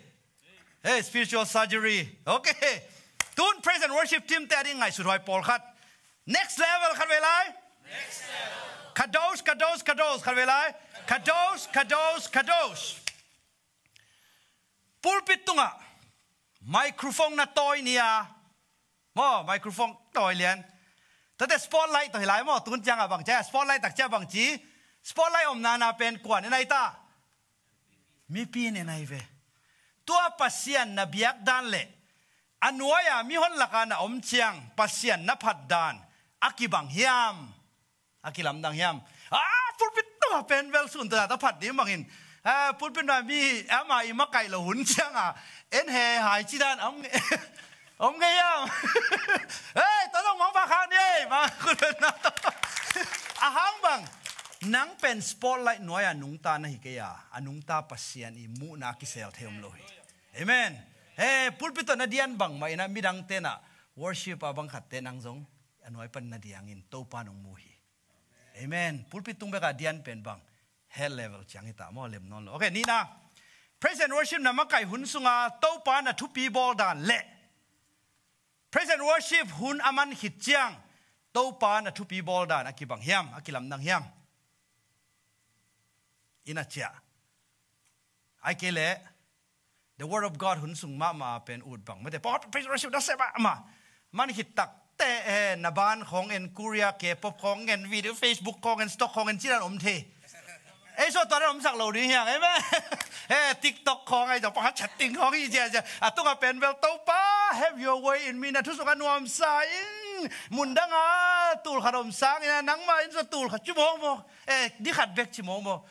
Hey, spiritual surgery. Okay. Tun praise and worship team te a ding ngaihsut huai pawlkhat. Next level khat vei lai. Next level. Kadosh, kadosh, kadosh khat vei lai. Kadosh, kadosh, kadosh. Pulpit tungah microphone na tawi nia. Maw, microphone tawi lian. Tate spotlight tawh hi lai maw, tun ciangah bang cia spotlight tak cia bang ci. Spotlight omna na pen kuan en ai ta. Mipi in en ai ve. Tua Pasian na biak dan le a nuai-a mihon laka na om ciang Pasian na phat dan a kibang hiam? A kilamdang hiam? Ah, pulpit tawh pen bel sun tawh ta phat ding bangin. Ah, pulpit na mi ama i makaih lo hun cianga en he hai ci dan om nge, om nge hiam? Hey, tawh zong mangpha khang ni ei, mang pulpit na tawh. A hang bang nang pen spotlight nuai-a nungta na hi kei a, a nungta Pasian i muhna kisel thei om lo hi. Amen. He, pulpit tawh na dian bangmah inah midang tenah worship a bang khatte nang zong a nuai pan na diangin Topa nong mu hi. Amen. Pulpit tung bekah dian pen bang head level ciang hi ta maw, lem nawn lo. Okay, nihna. Praise and worship na makaih hun sunga Topa na thupi bawl dan le praise and worship hun a man khit ciang Topa na thupi bawl dan a kibang hiam, a kilamdang hiam? Ina ciah. Ai kei leh The Word of God hun sung mahmah pen ut bang mate. Pawt praise worship na sep ah mah. Man khit tak te, eh, na ban khawng en, Korea K-pop khawng en, video Facebook khawng en, stock khawng en, cinan om thei. Ei so tua dan om sak lo ding hiang, amen. Eh, TikTok khawng ei, pakhat chatting khawng i cia cia. A tunga pen bel Topa, have your way in me, na thu sung a nuamsa ing. Mundanga tul khat om sang ina nangma in so tul khat ci mawk mawk. Eh, di khat bek ci mawk mawk.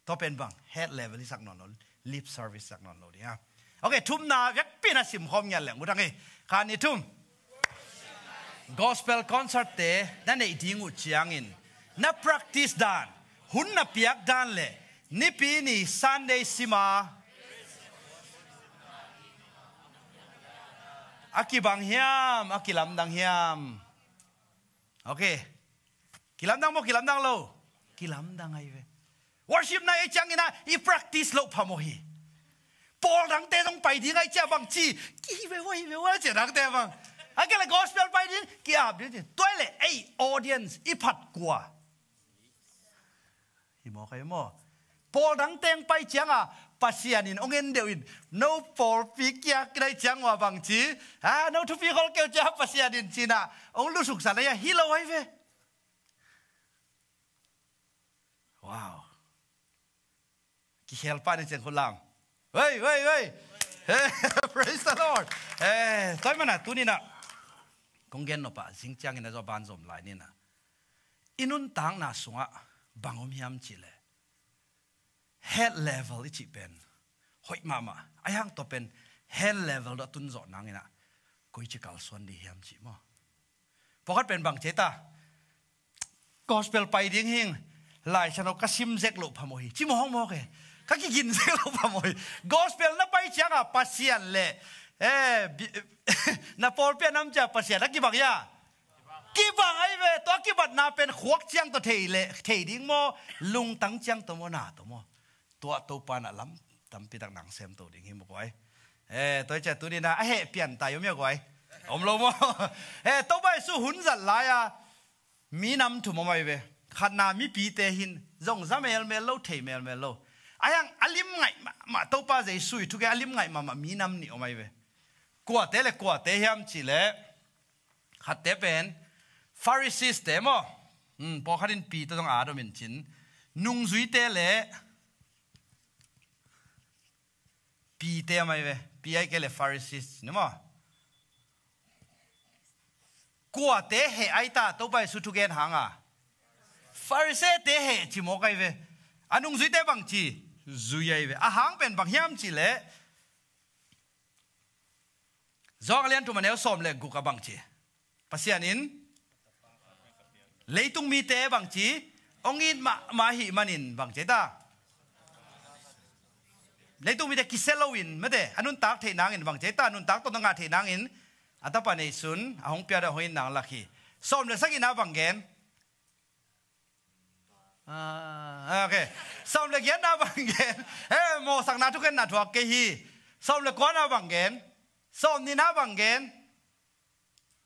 Tua pen bang head level i sak nawn lo, lip service sak nawn lo ding a. Okay, thumna vekpi na simkhawm ngiat leng, mutang hi. Khan i thum. Gospel concert te na neih ding uh ciangin na practice dan, hun na piak dan le nipi ni Sunday sima a kibang hiam, a kilamdang hiam? Okay. Kilamdang maw, kilamdang lo? Kilamdang ahi ve. Worship na ei ciangin ah i practice loh phamawh hi. Pawl dangte zong pai ding ahi cia bang ci, ki hi ve ua, hi ve ua cia dangte bang. A kei le gospel pai ding ki ap ding ci. Tua le ei audience i phat kua? Hi maw, kai maw? Pawl dang teng pai cianga Pasian in ong en deuh in, no pawlpi kia kidai ciang ua bang ci, ha, no thupi khol keu cia Pasian in cina ong lusuk san aia hi lo ai ve. Wow. Kikhel pa ni ciang khulam. Wei, wei, wei. Praise the Lord. Eh, toi mana tunina kong gen nopa zing ciangin a zo ban zom lai nina. I nuntakna sungah bang om hiam cih leh head level i cih pen hoih mahmah. Ahi hang tua pen head level dawh tun zawh nangin ah koici kalsuan dih hiam cih maw? Pawkhat pen bang cei ta? Gospel pai ding hing, Lai Siangtho ka sim zek loh phamawh hi. Ci mawkmawk e. Ka kigin zek loh phamawh hi. Gospel na pai cianga Pasian le, eh, bi-, na pawlpi a nam cia Pasian a kibang ia. Kibang ahi ve, tua kibatna pen khuak ciang tawh thei le, thei ding maw, lungtang ciang tawh maw, na tawh maw. Tua Topa na lam tampi tak nang sem to ding hi maw guai. Eh, tua cia tunina a heh pian tai om ia guai. Om lo maw. Eh, Topa Jesu hun zat lai-a mi nam thum om ahi ve. Khatna mipite hin zong za melmel lo, thei melmel lo. Ahi hang a lim ngaih mahmah Topa Jesu i thuke a lim ngaih mahmah mi nam nih om ahi ve. Kuate le kuate hiam cih leh khatte pen Pharisees te maw? Hmm, pawlkhat in pi tawh zong a dom in cin. Nungzuite le pite mai ve. Pi ai ke le Pharisees ni maw. Kuate heh ai ta, Topa Jesu thugen hanga. Pharisee-te heh ci mawk ai ve. A nungzuite bangci zui ai ve. A hang pen bang hiam cih leh, Johan a lian thum a neu sawm le guk a bangci, Pasian in leitung mite bangci hong it mahmah ahih manin bangci ta. Leitung mite kisia loin mate a nuntak theih nangin bangci ta, nuntak tawh na ngah theih nangin a Tapa neihsun a hong pia deuh hong it nang lak hi. Sawm le sagihna bang gen? Ah, ok. Sawm le giatna bang gen? Eh, mawhsakna thukhenna thuak kei hi. Sawm le kuana bang gen? Sawm nihna bang gen?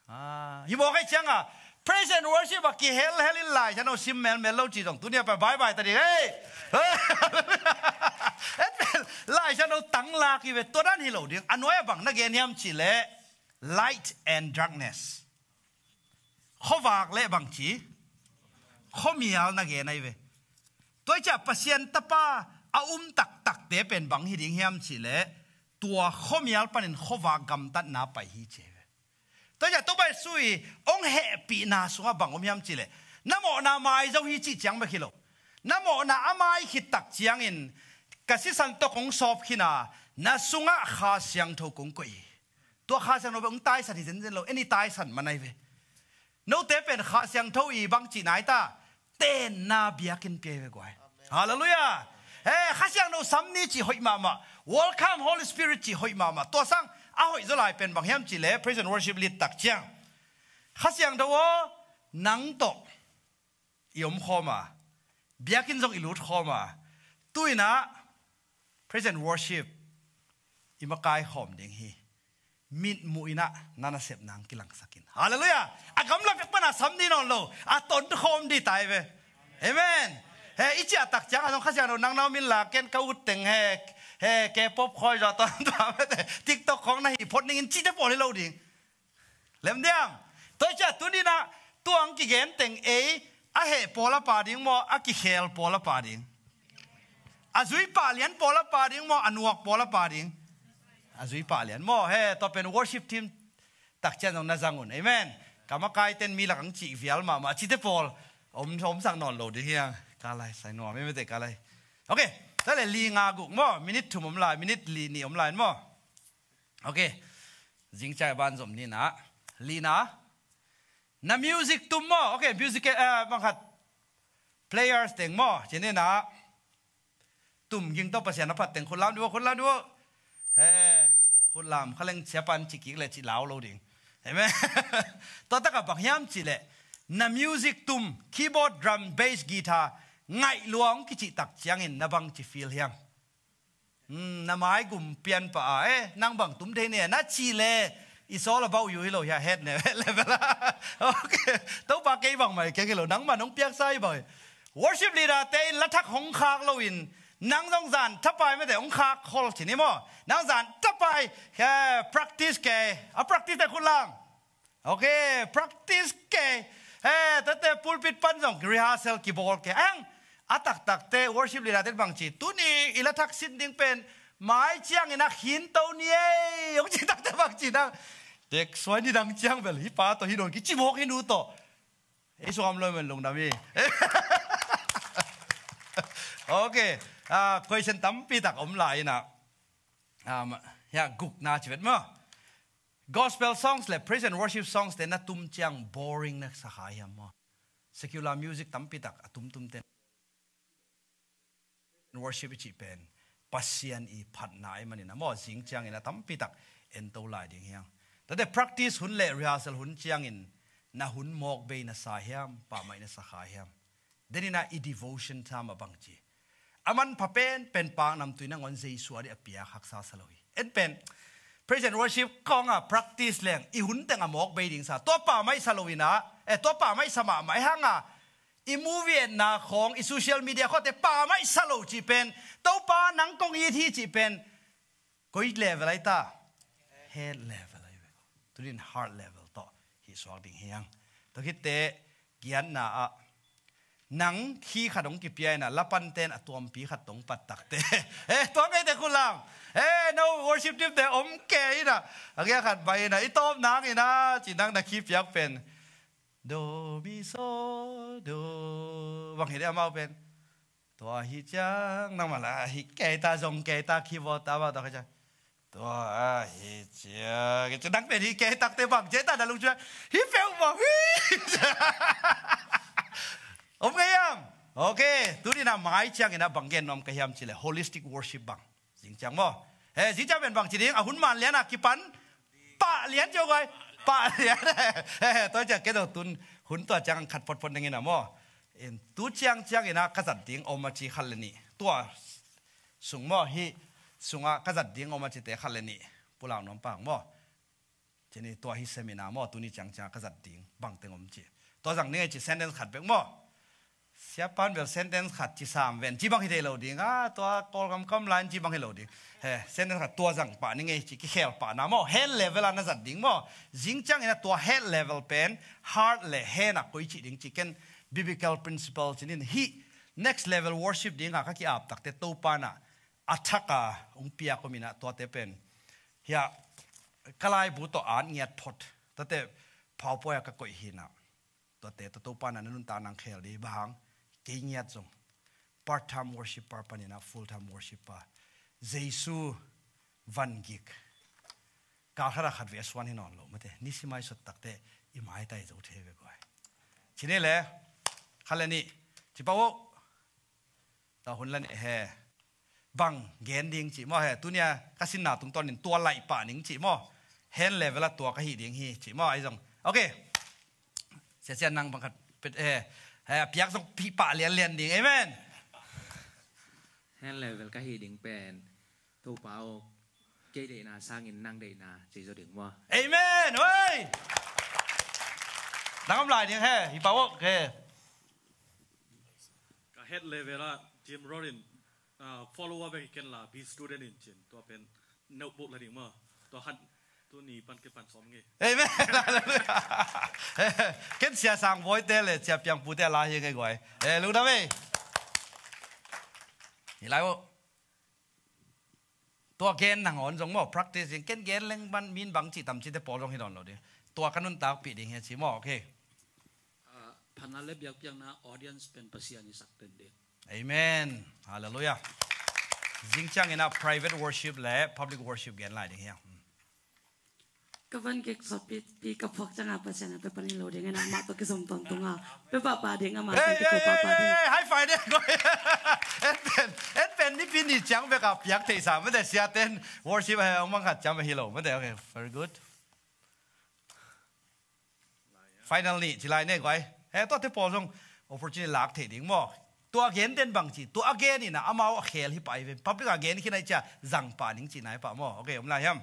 Ah, hi mawk ai cianga praise and worship a kihelhel in Lai Siangtho sim melmel lo ci zong tuni a pai bye bye ta ding. Hei! Lai Siangtho tang lak hi ve, tua dan hi lo ding. A nuai a bang na gen hiam cih leh light and darkness. Khuavak le bangci, khuamial na gen ai ve. Tua hi ciah Pasian Tapa a um taktakte pen bang hi ding hiam cih leh tua khuamial panin khuavak gamtatna pai hi ci ai ve. Tua hi ciah Topa Jesu i hong hehpihna sungah bang om hiam cih leh na mawhna mai zo hi cih ciang bek hi lo. Na mawhna a mai khit tak ciangin ka sisan tawh kong sawp khin a, na sungah Kha Siangtho kong koih hi. Tua Kha Siangtho bek hong taisan hi zenzen lo, en i taisan man ai ve. Note pen Kha Siangtho i bang cihna ai ta, tenna biakinn pia hi ve guai. Halleluiah. Eh, Kha Siangtho sam ni cih hoih mahmah. Welcome Holy Spirit cih hoih mahmah. Tua sang a hoih zaw lai pen bang hiam cih leh praise and worship lead tak ciang, Kha Siangtho aw, nang tawh i om khawm a, biakinn zong i lut khawm a, tu-in ah praise and worship i makai khawm ding hi. Mitmuh in ah na nasep nang kilangsak in. Halleluiah. A gamla pek pan a sam dih nawn lo, a ton khawm dih ta ai ve. Amen. He, i ciah tak ciang a zong Kha Siangtho nang na om in la, ken ka ut teng he, he, K-pop khawi zaw ton tua mete, TikTok khawng na hih phot ning in cihte pawl hi lo ding. Lem diam? Tua hi ciah tuni-in ah tua hong kigen teng ei, a heh pawl a pha ding maw, a kikhel pawl a pha ding? A zui pah lian pawl a pha ding maw, a nuak pawl a pha ding? A zui pah lian maw. He, tua pen worship team tak ciang zong na zang un. Amen. Ka makaite'n mi lak hong cih vial mahmah cihte pawl om, omsak nawn lo ding hi hang. Ka lai sai nuam, amen te ka lai. Ok. Tua leh li nga guk maw, minute thum om lai, minute li nih om lai maw. Ok. Zing ciang ban zom ni-in ah, lina, na music tum maw? Ok, music, eh, bang khat players teng maw, ci ni-in ah, tum ging tawh Pasian a phat teng khut lam dih uh, khut lam dih uh. He, khut lam kha leng sia pan ci kik leh ci lau lo ding. Amen. Tua tak ah bang hiam cih leh na music tum, keyboard, drum, bass, guitar ngaih lua hong kicih tak ciangin na bang ci feel hiam? Hmm, na mai gum pian pah a, eh, nang bang tum thei ne na cih leh, it's all about you hi lo hi a, het ne level a. Ok. Topa kei bangmah keng hi lo, nangmah nong piaksa hi bang hi. Worship leader-te in la thak hong khak loin, nang zong zan thapai mete hong khak khol ci ni maw. Nang zan thapai, eh, practice kei, a practice te khut lam. Ok, practice kei. He, tuate pulpit pan zong rehearsal kibawl kei. Ang, a taktakte worship leader-te bang ci, tuni i la thak sin ding pen mai ciangin a khin to ni ei, hong ci takte bang ci nang. Tek suai ni dang ciang bel, hi pa tawh hi nawn kici mawk hi nu tawh. Ei sung am lo men lungdam hi. Ok, ah, question tampi tak om lai-in ah. Um, ya, gukna ci vet maw. Gospel songs le praise and worship songs te na tum ciang boring na sa kha hiam maw? Secular music tampi tak a tumtum te. Worship i cih pen Pasian i phatna ahih manin a maw, zing ciangin a tampi tak en to lai ding hi hang. Tuate practice hun le rehearsal hun ciangin na hun mawk bei na sa hiam, pah maih na sa kha hiam? Denin ah i devotion time a bang ci. A manpha penpen paknamtui nangawn Jesu a dih a piak haksa sa lo hi. En pen praise and worship khawng a practice leng i hun teng a mawk bei ding sa. Tua pah maih sa lo-in ah, eh, tua pah maih sa mahmah hi hang a, i movie etna khawng, i social media khawngte pah maih sa lo cih pen, Topa nang kong it hi cih pen, koi level ai ta? Head level ai ve. Tunin heart level tawh hih suak ding hi hang. Tua khit teh giatna ah, Nang khi khat hong kipia inah, lapanten a tuampi khat tong pattakte. Eh, tua ngeite khulang. Eh, no worship team te om ke inah. A kia khat bai inah. I tawp nang inah. Ci nang na khi piak pen. Do, mi, so, do. Bang hi de amau pen. Tua hi ciang. Nang mala hi keita zong keita khi bawta bawta ka ciang. Tua ahi cia. Kei cia dang pen hi kei takte bang cia ta na lungcun hi peuh bang hi. Om ngei am? Ok. Tuni na mai ciangin a bang gen nuam ka hiam cile holistic worship bang. Zing ciang maw? He, zing ciang pen bang ci ding a hun man lian a kipan. Pah lian cio gai. Pah lian. He, he, tua ciang kei do tun hun tua ciang khat potpot nengin a maw? In tu ciang ciangin a ka zat ding om a ci khat le nih. Tua sung maw hi sungah ka zat ding om a cite khat le nih pulak nuam pang maw? Cini tua hi seminar maw tuni ciangciang ka zat ding bangteng om ci. Tua zang ning ei ci sentence khat bek maw? Siapan bel sentence khat ci sam ven ci bang hi thei lo ding a tua Kawlgam kam line ci bang hi lo ding. He sentence khat tua zang pah ning ei ci kikhel pah na maw hand level a na zat ding maw? Zing ciangin a tua head level pen heart le hand a koi ci ding ci ken biblical principle cinin hi next level worship ding a ka ki-ap takte Topa na a thak a hong piak om inah tuate pen. Hia ka laibu tawh at ngiat phot. Tuate PowerPoint a ka koih hi inah. Tuate tua Topa na na nuntak nang khel di bang kei ngiat zong. Part time worshipper pan inah full time worshipper. Jesu van gik. Kal khat a khat ve a suan hi nawn lo mate. Ni simai sot takte i maitai zo thei ve guai. Cine le khat le nih. Ci pah uh. Tua hun la nih he. Bang gen ding cih maw he. Tunia ka sinna tungtawnin tua laih pah ning cih maw. Hand level a tua ka hih ding hi cih maw ahi zong. Ok. Sia sia nang bang khat pet he. He a piak zong pih pah lianlian ding. Amen. Hand level ka hih ding pen Topa aw kei deihna sangin nang deihna ci zaw ding maw? Amen. Oi. Nang om lai ding he. Hi pah uh he. Ka head level ah Jim Rorin, ah, follower bek hi ken la be student in cin tua pen notebook la ding maw? Tua han tuni pan ke pan sawm nge. Amen. Ken sia sang boy te le sia piang pu te la hi nge guai. Eh, lungdam ei. Hi lai uh. Tua gen nang on zong maw practice in ken gen leng ban min bang cih tam cih te pawl zong hi dawn lo ding. Tua ka nuntakpih ding hi a ci maw. Ok. Ah, phatna le biakpiakna audience pen Pasian i sak pen ding. Amen. Halleluiah. Zing ciangin a private worship le public worship gen lai ding hi a. Ka van gik sawpi pi ka phuak cianga Pasian a pe panin lo ding ina mah tawh kizom tawntung a pe pahpah ding a mah tawh kiko pahpah ding. High five ding. En pen en pen nipi ni ciang bek a piak theihsa mate siaten worship a hong mangkhat ciang bek hi lo mate. Okay, very good. Final ni ci lai ne guai. He tuate pawl zong opportunity lak thei ding maw? Tua gen den bang ci tua a gen ina amau a khel hi pai ve public a gen khin ai cia zang pa ning ci nai pa maw? Okay, om lai hiam?